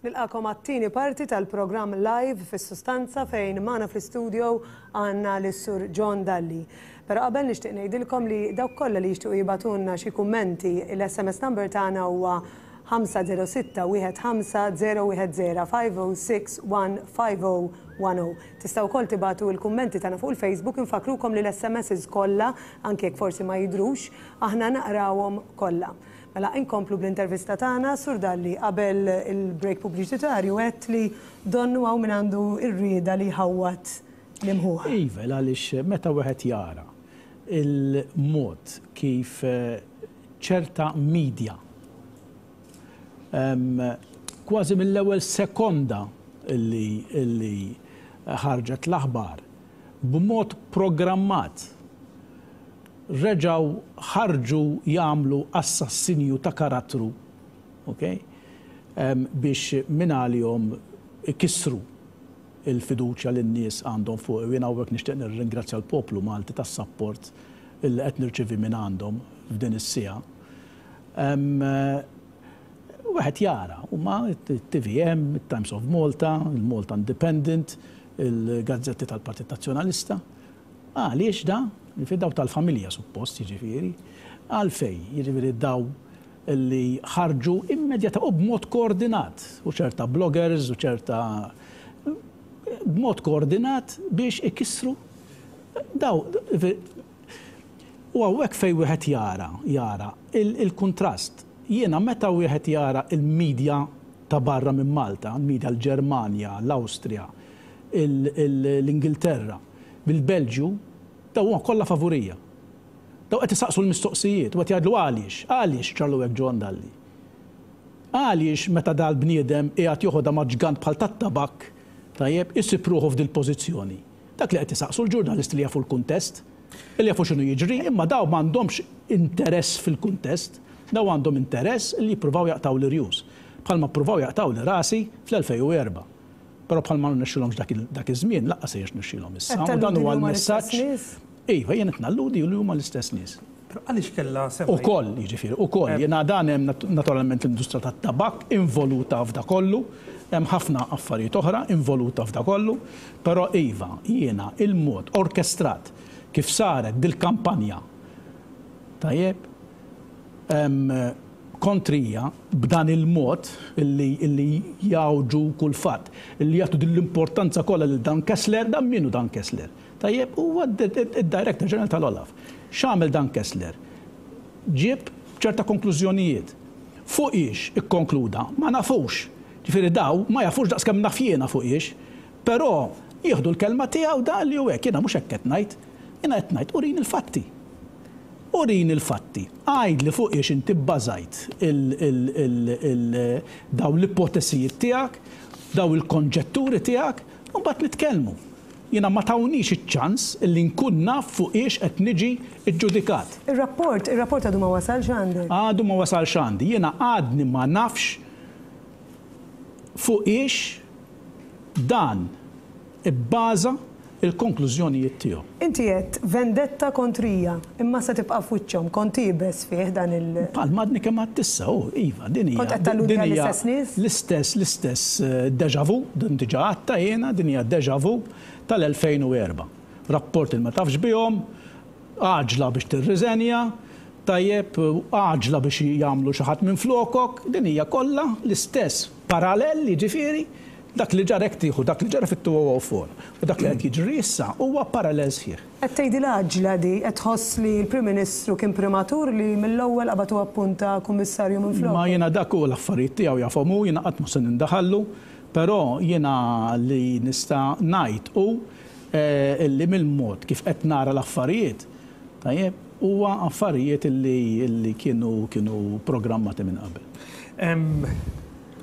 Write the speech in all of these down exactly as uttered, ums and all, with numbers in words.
Nilqagħkom għat-tieni parti tal-programm Live fis-Sustanza, fejn magħna fl-istudio għandna lis-Sur John Dalli. Però qabel nixtieq ngħidilkom li dawk kollha li jixtiequ jibagħtulna xi kummenti, il-S M S number tagħna huwa ħamsa zero sitta wieħed ħamsa zero wieħed zero, five oh six one five oh one oh. Tistgħu wkoll tibagħtu l-kummenti tagħna fuq il-Facebook. Infakkrukom li l-S M Ss kollha, anke jekk forsi ma jidhrux, aħna naqrawhom kollha. Mela inkomplu bl-intervista tagħna. Sur Dalli, qabel il-break pubbliċitarju għedt li donnu hawn min għandu r-rieda li jħawwad l-imħuħ. Iva, għaliex meta wieħed jara il-mod kif eh, ċerta media em, kważi mill-ewwel sekonda illi, illi ħarġet l-aħbar, b'mod programmat reġaw ħarġu jagħmlu assassinju ta' karattru, ok? Em, biex minn għalihom ikissru il-fiduċja li n-nies għandhom fuq. Jien hawnhekk nixtieq nirringrazzja l-poplu Malti tas-sapport illi qed nirċivi minn għandhom f'din is-siegħa. Em, Wieħed jara, huma T V M, Times of Malta, il-Malta Independent, il-gazzetti tal-Partit Nazzjonalista. Għaliex da? Jiġifieri daw tal-familja suppost, jiġifieri. Għalfej, jiġifieri daw li ħarġu immedjata u b'mod koordinat, u ċerta bloggers u ċerta b'mod koordinat biex ikissru daw. U hawnhekk fej wieħed jara, jara il-kontrast. Jiena meta wieħed jara il-medja ta' barra minn Malta, il-medja l-Ġermanja, l-Awstrija, l-Ingilterra, bil-Belġju, daw huma kollha favurija. Daw qed isaqsu l-mistoqsijiet u qed jgħidlu għaliex, għaliex ġralu hekk John Dalli. Għaliex meta dal-bniedem qiegħed joħodha ma' ġgant bħal tat-tabak, tajjeb, isib ruħu f'dil pożizzjoni? Dak li qed isaqsu l-ġurnalisti li jafu l-kuntest, li jafu x'inhu jiġri, imma daw m'għandhomx interess fil-kuntest, daw għandhom interess li jippruvaw jaqtgħu l-irjus. Bħalma ppruvaw jaqtgħu li rasi fl-elfejn u erbgħa. Però bħalma rnexxilhomx dak iż-żmien, lanqas se jirnexxilhom issa. U dan huwa l-messaġġ. Iva, jien qed nalludi li huma l-istess nies. Għaliex kella sema. Ukoll, jiġifieri, ukoll, jiena dan hemm naturalment l-industrija tat-tabak involuta f'da kollu, hemm ħafna affarijiet oħra involuta f'da kollu, però iva, jiena il-mod orkestrat kif saret dil-kampanja, tajjeb, kontrija b'dan il-mod illi, illi jgħawġu kull fatt, illi jagħtu din l-importanza kollha lil Dan Kessler. Dan min hu Dan Kessler? Tajjeb, huwa id-Director General tal-Olaf. X'għamel Dan Kessler? Ġieb ċerta konklużjonijiet. Fuq ix ikkonkluda, ma nafux. Ġifieri daw ma jafux daqs kemm naf jiena fuq ix, però jieħdu l-kelma tiegħu da li hu hekk. Jiena mhux hekk qed ngħid. Jiena qed ngħid urini l-fatti. Urini l-fatti. Għid li fuq ix inti bbażajt daw l-ipotesijiet tiegħek, daw il-konġetturi tiegħek, u mbagħad nitkellmu. Jiena ma tawnix iċ-ċans illi nkun naf fuq ix qed niġi iġġudikat. Ir-rapport, ir-rapport għadu ma wasalx għandek? Għadu ma wasalx għandi. Jiena għadni ma nafx fuq ix dan ibbaża il-konklużjonijiet tiegħu. Inti qed vendetta kontrija, imma se tibqa' f'wiċċhom, kont iebes fih dan il- Bħalma għadni kemm għedt issa, oh, iva, din hija. Kont qed talludi għall-istess nies? L-istess, l-istess eh, deja vu, din diġà għedtha jiena, din hija deja vu tal-elfejn u erbgħa. Rapport il ma tafx bihom, għaġla biex tirriżenja, tajjeb, għaġla biex jagħmlu xi ħadd minn flokok, din hija kollha l-istess parallel, jiġifieri, dak li ġara tieħu, dak li ġara fit-elfejn u erbgħa u dak li qed jiġri issa huwa parallel sħiħ. Qed tgħidi l-għaġla di, qed tħoss li l-Prim Ministru kien prematur li mill-ewwel qabad u appunta kummissarju minn flok? Ma jiena dak u l-affarijiet tiegħu jafhom hu, jiena qatt mhu se nindaħallu, però jiena li nista' ngħid hu eh, illi mill-mod kif qed nara l-affarijiet, tajjeb, huwa affarijiet illi kienu kienu programmati minn qabel.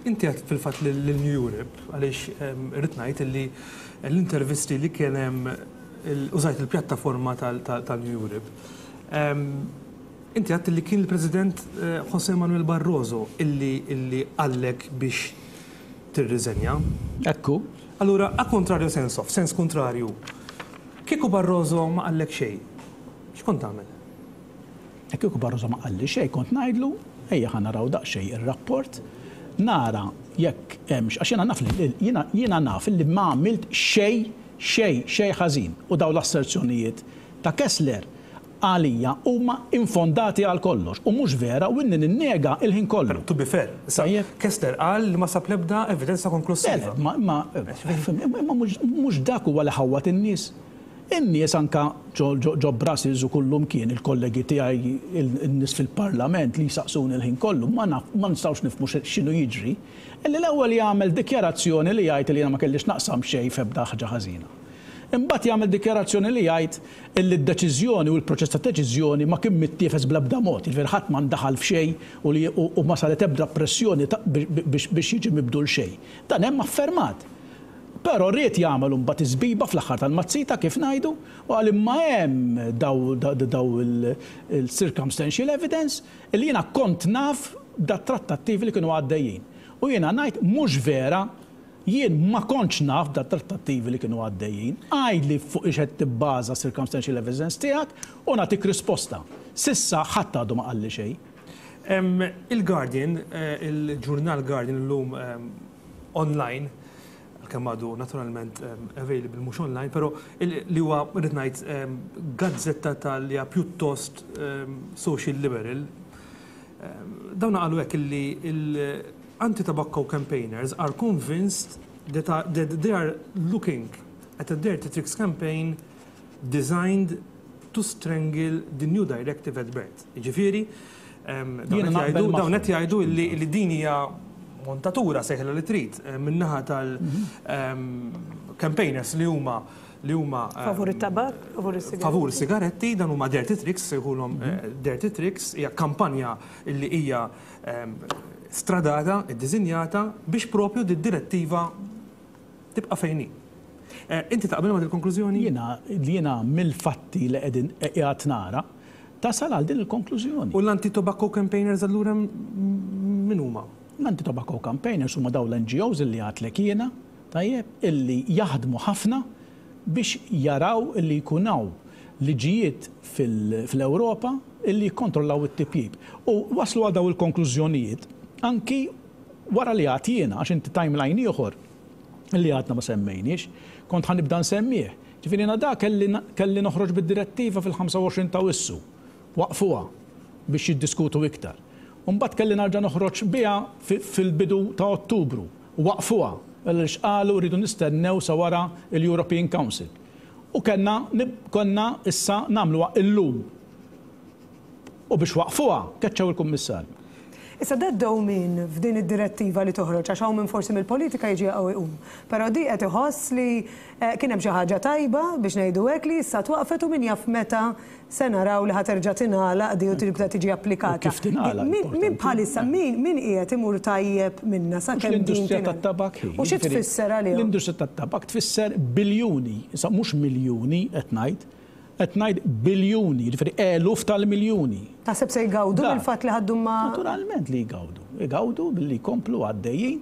Inti għedt fil-fatt l-New Europe, għaliex irrid ngħid illi l-intervisti li kien hemm, użajt il-pjattaforma tal-New Europe. Inti għedt li kien il-President eh, José Manuel Barroso illi illi qallek biex tirriżenja. Ekku. Allura, a contrario senso, sens kontrarju, kieku Barroso ma qallek xejn, x'kont tagħmel? Kieku Barroso ma qalli xejn, kont ngħidlu ejja ħa naraw daqsxejn ir-rapport, nara jekk hemmx, għax jiena naf li jiena naf li ma għamilt xejn xejn xejn ħażin u daw l-asserzjonijiet ta' Kessler għalija huma infondati għal kollox u mhux vera u inni ninnega il-ħin kollu. To be fair, Kessler qal li ma sab l-ebda evidenza konklusiva. Ma mhux dak huwa li ħawwat in-nies. In-nies anka ġo Brussels u kullum kien il-kollegi tiegħi in-nies fil-Parlament li jsaqsuni l-ħin kollu ma nistgħux nifhmu x'inhu jiġri. Illi l-ewwel jagħmel dikjarazzjoni li jgħid li jiena ma kellix naqsam xejn f'ebda ħaġa ħażina. Imbagħad jagħmel dikjarazzjoni li jgħid illi d-deċiżjoni u l-proċess ta' deċiżjoni ma kien mittiefes bl-ebda mod, jiġifieri ħadd ma ndaħal f'xejn u ma saret ebda pressjoni biex jiġi mibdul xejn. Dan hemm affermat. Però rrid jagħmel imbagħad iżbiba fl-aħħar tal-mazzita kif ngħidu u qal imma hemm daw il-circumstantial evidence illi jiena kont naf da trattattivi li kienu għaddejjin. U jiena ngħid mhux vera, jien ma kontx naf da trattattivi li kienu għaddejjin, għidli fuq ix qed tibbaża circumstantial evidence tiegħek u nagħtik risposta. Sissa ħadd għadu ma qalli xejn. Il-Guardian, il-ġurnal Guardian illum online, kemm għadu naturalment available mhux online, però li huwa rrid ngħid gazzetta tal-li pjuttost social liberal, dawn qalu hekk illi l-anti-tobacco campaigners are convinced that, are, that they are looking at a dirty tricks campaign designed to strangle the new directive at birth. Jiġifieri, dawn qed jgħidu li din hija montatura sejħla li trid minnaħa tal-campaigners li huma li huma favur it-tabak, favur is-sigaretti. Favur sigaretti, dan huma dirty tricks, sejħulhom dirty tricks, hija kampanja li hija stradata, iddisinjata biex propju di direttiva tibqa' fejn hi. Inti taqbel ma' il-konklużjoni? Jiena jiena mill-fatti li qegħdin qiegħed nara tasal għal din il-konklużjoni. U l-anti-tobacco campaigners allura min huma? L-anti-tobacco campaigners huma dawn l-N G Os illi għadlek jiena, tajjeb, illi jaħdmu ħafna biex jaraw illi jkun hawn liġijiet fil-Ewropa illi jikkontrollaw it-tipjib. U waslu għal daw il-konklużjonijiet anki wara li għad jiena, għax inti timeline ieħor illi għadna ma semmejniex, kont ħa nibda nsemmih. Ġifieri jiena da kelli noħroġ bid-direttiva fil-ħamsa u għoxrin ta' Awwissu, waqfuha biex jiddiskutu iktar. Mbagħad kelli nerġa' noħroġ biha fil-bidu ta' Ottubru, waqfuha, għaliex qalu rridu nistennew sa wara l-European Council. U kellna konna issa nagħmluha illum. U biex waqfuha, keċċew il-Kummissarju. Issa da dewmien f'din id-direttiva li toħroġ, għax hawn minn forsi mill-politika jiġi jaqgħu iqum. Però di qed iħoss li kien hemm xi ħaġa tajba biex ngħidu hekk li issa twaqfet u min jaf meta se naraw li ħaterġa' tingħalaq di u tibda tiġi applikata. U kif tingħalaq? Min bħalissa, min qiegħed imur tajjeb minna sa kemm din L-industrija tingħalaq? tat-tabak hi. U xi tfisser għalihom? L-industrija tat-tabak tfisser biljuni, issa mhux miljuni qed ngħid, qed ngħid biljuni, jiġifieri eluf tal-miljuni. Taħseb se jgawdu Da. mill-fatt li ħaddu ma' Naturalment li jgawdu. Jgawdu billi jkomplu għaddejjin,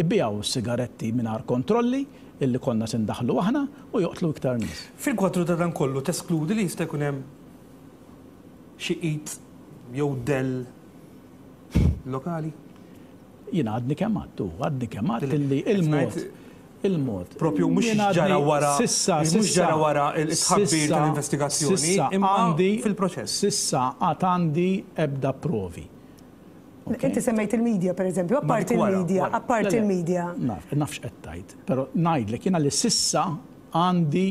ibijaw sigaretti mingħajr kontrolli illi konna se ndaħlu aħna u joqtlu iktar nies. Fil-kwadru ta' dan kollu teskludi li jista' jkun hemm xi qid jew del lokali? Jiena għadni kemm għadtu, għadni kemm għadt Dili, illi qed il-mod ngħid il-mod. Propju mhux Jien għadni ġara wara, sissa, mhux sissa, ġara wara il-tħabbir sissa, tal-investigazzjoni, sissa imma għandi fil-proċess. Sissa għad għandi ebda provi. Okay. Inti semmejt il-medja, per eżempju, Ma apparti dik wara, il-medja, wara. apparti Le, le, il-medja. Naf, nafx qed tgħid, però ngħidlek jiena li sissa għandi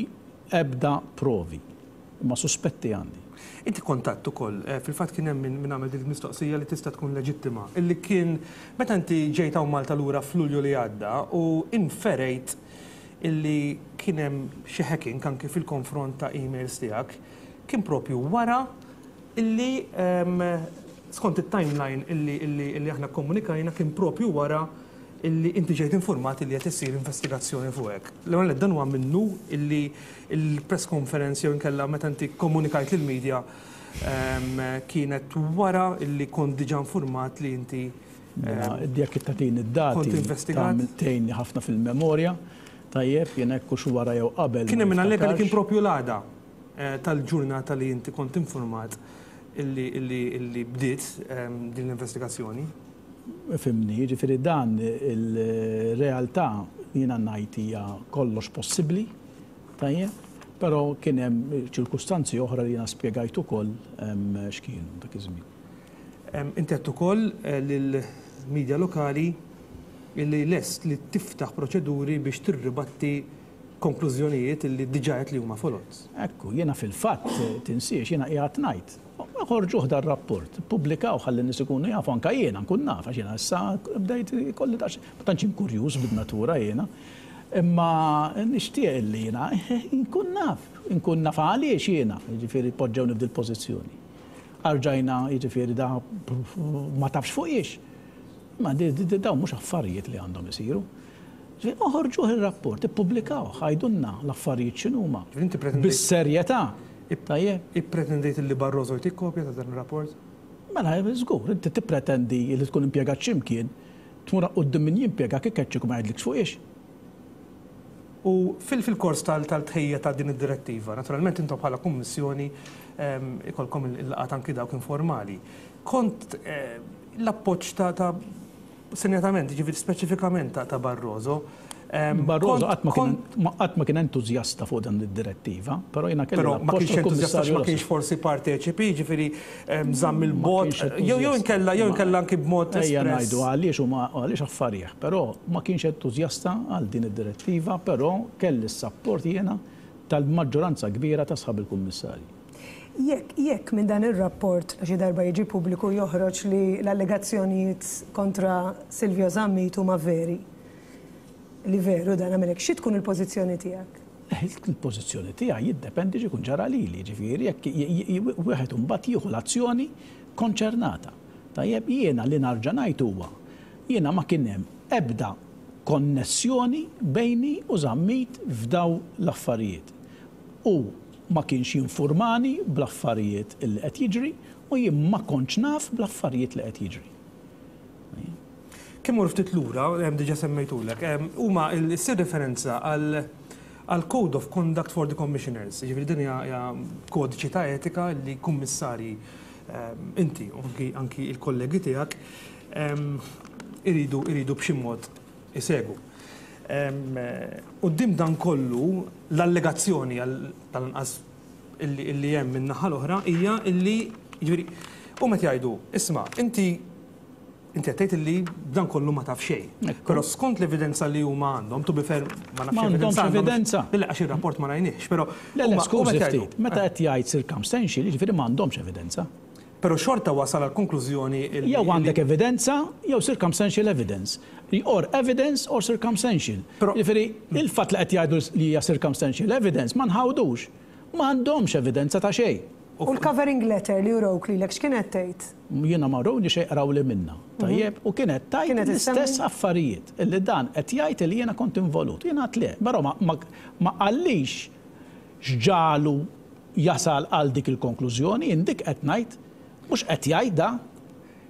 ebda provi, imma suspetti għandi. Inti kontatt ukoll, eh, fil-fatt kien hemm min għamel dik il-mistoqsija li tista' tkun leġittima, illi kien meta inti ġejt hawn Malta lura f'Lulju li għadda u inferejt illi kien hemm xi hacking anke fil-konfront ta' emails tiegħek, kien propju wara illi, ehm, skont it-timeline illi, illi, illi aħna komunikajna kien propju wara illi inti ġejt informat illi qed issir investigazzjoni fuqek. L-ewwel dan huwa minnu illi il-press conference jew inkella meta inti komunikajt lill-medja, ehm, kienet wara illi kont diġà informat li inti, Mela, ehm, jekk tagħtini d-dati, kont investigat? tagħmel tgħinni ħafna fil-memorja, tajjeb, jien hekk hux wara jew qabel Kien hemm ma min allega li kien niftakarx. propju l-għada, eh, tal-ġurnata li inti kont informat illi bdiet din l-investigazzjoni. Fhimni, ġifieri dan il-realtà jiena ngħid hija kollox possibbli, tajjeb, però kien hemm ċirkustanzi oħra li jiena spjegajt ukoll x'kienu dak iż-żmien. Inti għedt ukoll lill-medja lokali illi lest li tiftaħ proċeduri biex tirribatti konklużjonijiet illi diġà li huma foloz. Ekku, jiena fil-fatt tinsiex jiena qiegħed ngħid. Ħorġuh dar-rapport, pubblikaw ħalli n-nies ikunu jafu, anke jiena nkun naf, għax jiena issa bdejt kolli dax, ma tantx kurjuż bin-natura jiena. Imma nixtieq li jiena nkun naf, nkun naf għaliex jiena, jiġifieri poġġewni f'dil pożizzjoni. Arġajna, jiġifieri da ma tafx fuq iex. Ma dawn mhux affarijiet li għandhom isiru. Oħorġuh ir-rapport, ippubblikaw, għidulna l-affarijiet x'inhuma. Bis-serjetà. Tajjeb. Ippretendejt li Barroso jtik kopja ta' dan ir-rapport? Mela, żgur, inti tippretendi li tkun impjegat x'imkien, tmur quddiem min jimpjega kif keċċik u ma jgħidlikx fuq iex. U fil-kors tal-tħejja ta' din id-direttiva, naturalment intom bħala kummissjoni ikolkom il-laqgħat anki dawk informali. Kont l-appoġġ ta' senjatament, ġifieri speċifikament ta' Barroso. Barroso qatt ma kien entużjasta fuq dan id-direttiva, però jiena kelli. Però ma kienx entużjasta, ma kienx forsi parteċipi, ġifieri żamm il-bot, jew jew inkella jew inkella anki b'mod Ejja ngħidu għaliex huma għaliex affarih, però ma kienx entużjasta għal din id-direttiva, però kelli s-sapport jiena tal-maġġoranza kbira ta' sħab il-kummissarji. Jekk jekk minn dan ir-rapport xi darba jiġi pubbliku joħroġ li l-allegazzjonijiet kontra Silvio Zammit huma veri, li veru dan għamilek, xi tkun il-pożizzjoni tiegħek? Il-pożizzjoni tiegħi jiddependi x'ikun ġara lili, ġifieri jekk wieħed imbagħad jieħu l-azzjoni konċernata. Tajjeb, jiena li narġa' ngħid huwa jiena ma kien hemm ebda konnessjoni bejni u Zammit f'daw l-affarijiet. U ma kienx jinformani bl-affarijiet li qed jiġri u jien ma kontx naf bl-affarijiet li qed jiġri. Kemm mur ftit lura, diġà semmejtulek, huma ssir referenza għal Code of Conduct for the Commissioners, jiġifieri din hija kodiċi ta' etika li kummissarji inti u anki il-kollegi tiegħek iridu iridu b'xi mod isegwu. Quddiem dan kollu l-allegazzjoni tal-anqas illi hemm min-naħa l-oħra hija illi jiġifieri huma qed jgħidu, isma' inti inti qed tgħid illi dan kollu ma taf xejn. Però skont l-evidenza li huma għandhom, to be fair, ma nafx evidenza. Evidenza. Le, għax ir-rapport ma rajniex, però Le, le, skużi ftit, meta qed jgħid circumstantial, jiġifieri m'għandhomx evidenza. Però xorta wasal għal konklużjoni Jew għandek evidenza, jew circumstantial evidence. Or evidence or circumstantial. Jiġifieri il-fatt li qed jgħidu li hija circumstantial evidence ma nħawdux. Ma għandhomx evidenza ta' xejn. U l-covering letter li urawk lilek x'kienet tgħid? Jiena ma rawni xejn, qraw li minna. Tajjeb, u kienet tgħid l-istess affarijiet illi dan qed jgħid li jiena kont involut. Jiena għedt le, però ma qallix x'ġalu jasal għal dik il-konklużjoni, indik qed ngħid mhux qed jgħid da,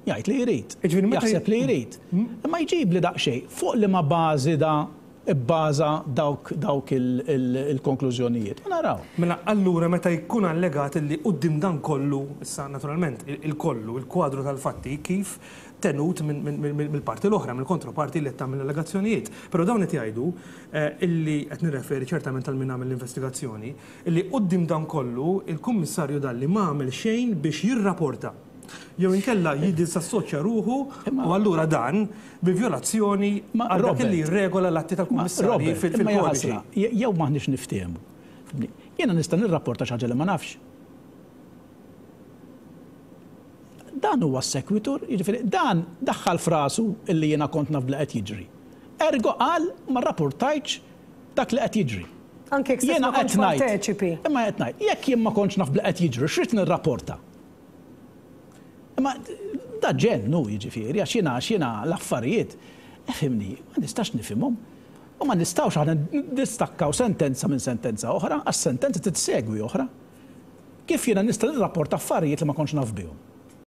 jgħid li jrid. Jaħseb li jrid. Imma jġib li daqsxejn fuq li ma bażi da bbaża dawk dawk il-konklużjonijiet. U naraw. Mela allura meta jkun allegat li quddiem dan kollu, issa naturalment il-kollu, il-kwadru tal-fatti kif tenut mill-parti l-oħra, mill-kontroparti li qed tagħmel allegazzjonijiet. Però dawn qed jgħidu illi qed nirreferi ċertament għal min għamel l-investigazzjoni, illi quddiem dan kollu il-Kummissarju Dalli ma għamel xejn biex jirrapporta jew inkella jiddisassoċja ruħu u allura dan bi vjolazzjoni għal dak li regola l-atti tal-kummissarji fil-kodiċi. Jew m'aħniex niftehmu. Jiena nista' nirrapporta xi ħaġa li ma nafx. Dan huwa s-sekwitur, jiġifieri dan daħħal frasu illi jiena kont naf li qed jiġri. Ergo qal ma rrapportajtx dak li qed jiġri. Anke jekk ma kontx parteċipi. Imma qed ngħid, jekk jien ma kontx naf li qed jiġri, x'rid nirrapporta? Imma da ġennu jiġifieri, għax jiena għax jiena l-affarijiet, fhimni, ma nistax nifhimhom. U ma nistgħux aħna nistakkaw sentenza minn sentenza oħra, għax sentenza titsegwi oħra. Kif jiena nista' nirrapporta affarijiet li ma kontx naf bihom?